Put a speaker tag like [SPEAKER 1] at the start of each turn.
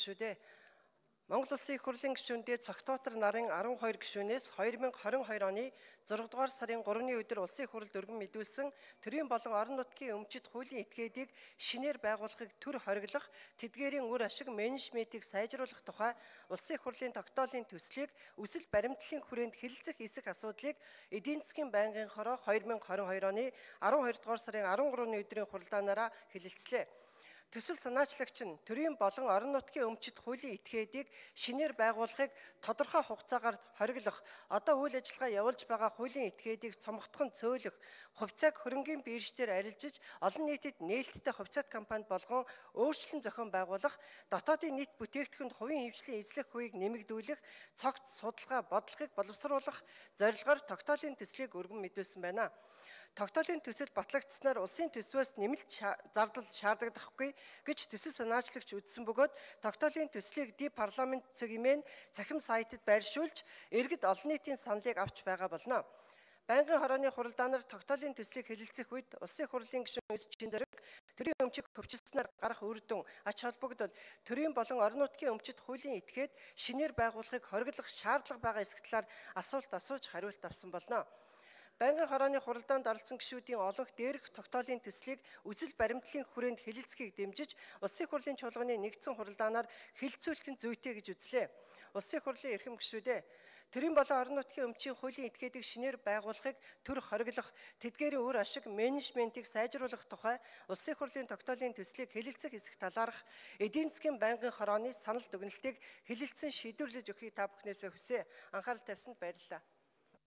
[SPEAKER 1] гишүүдээ. Монгол Улсын их хурлын гишүүндээ цогтоотор нарын 12 гишүүнээс 2022 оны 6 дугаар сарын 3-ны өдөр Улсын их хурлд өргөн мэдүүлсэн төрийн болон орон нутгийн өмчит хуулийн этгээдийг шинээр байгуулахыг төр хориглох, тэдгээрийн үр ашиг менежментийг сайжруулах тухай Улсын их хурлын тогтоолын төслийг үсэл баримтлалын хүрээнд хэлэлцэх эсэх асуудлыг эдийн засгийн байнгын хороо 2022 оны 12 дугаар сарын 13-ны өдрийн хуралдаанаараа хэлэлцлээ. Төсөл санаачлагч нь төрийн болон орон нутгийн өмчит хуулийн этгээдийг шинээр байгуулахыг тодорхой хугацаагаар хориглох, одоо үйл ажиллагаа явуулж байгаа хуулийн этгээдийг цомготхон цөөлөх, хувьцааг хөрөнгийн биржээр арилжиж олон нийтэд нээлттэй хувьцаат компанид болгон өөрчлөлт зохион байгуулах, дотоодын нийт бүтээгдэхүүнд хувийн хэмжээлийн эзлэх хувийг нэмэгдүүлэх, цогц судалгаа бодлогыг боловсруулах зорилгоор тогтоолын төслийг өргөн мэдүүлсэн байна. Тогтоолын төсөл батлагдсанаар улсын төсвөөс нэмэлт зардал шаардагдахгүй гэж төсөл санаачлагч үзсэн бөгөөд тогтоолын төслийг парламент цэгмэн цахим сайтад байршуулж иргэд олон нийтийн саналыг авч байгаа болно. Байнгын хорооны хуралдаанаар тогтоолын төслийг хэлэлцэх үед улсын их хурлын гишүүн Чин Зориг төрийн өмчийг хөвчлснээр гарах үр дүн ач холбогдол төрийн болон орон нутгийн өмчит хуулийн этгээд шинээр байгуулахыг хориглох шаардлага байгаа эсэх талаар асуулт асууж хариулт авсан болно. Байнгын хорооны хуралдаанд оролцсон гишүүдийн олонх дээрх тогтоолын төслийг үсэл баримтлалын хүрээнд хэлэлцэхийг дэмжиж Улсын их хурлын чуулганы нэгдсэн хуралдаанаар хэлэлцүүлэх нь зүйтэй гэж үзлээ. Улсын их хурлын эрхэм гишүүдээ төрийн болон орон нутгийн өмчийн хуулийн этгээдийг шинээр байгуулахыг төр хориглох, тэдгээрийн үр ашиг менежментийг сайжруулах тухай Улсын их хурлын тогтоолын төслийг хэлэлцэх эсэх талаарх эдийн засгийн байнгын хорооны санал дүгнэлтийг хэлэлцэн шийдвэрлэж өгөхийг та бүхнээсээ хүсье. Анхаарал тавьсанд баярлалаа.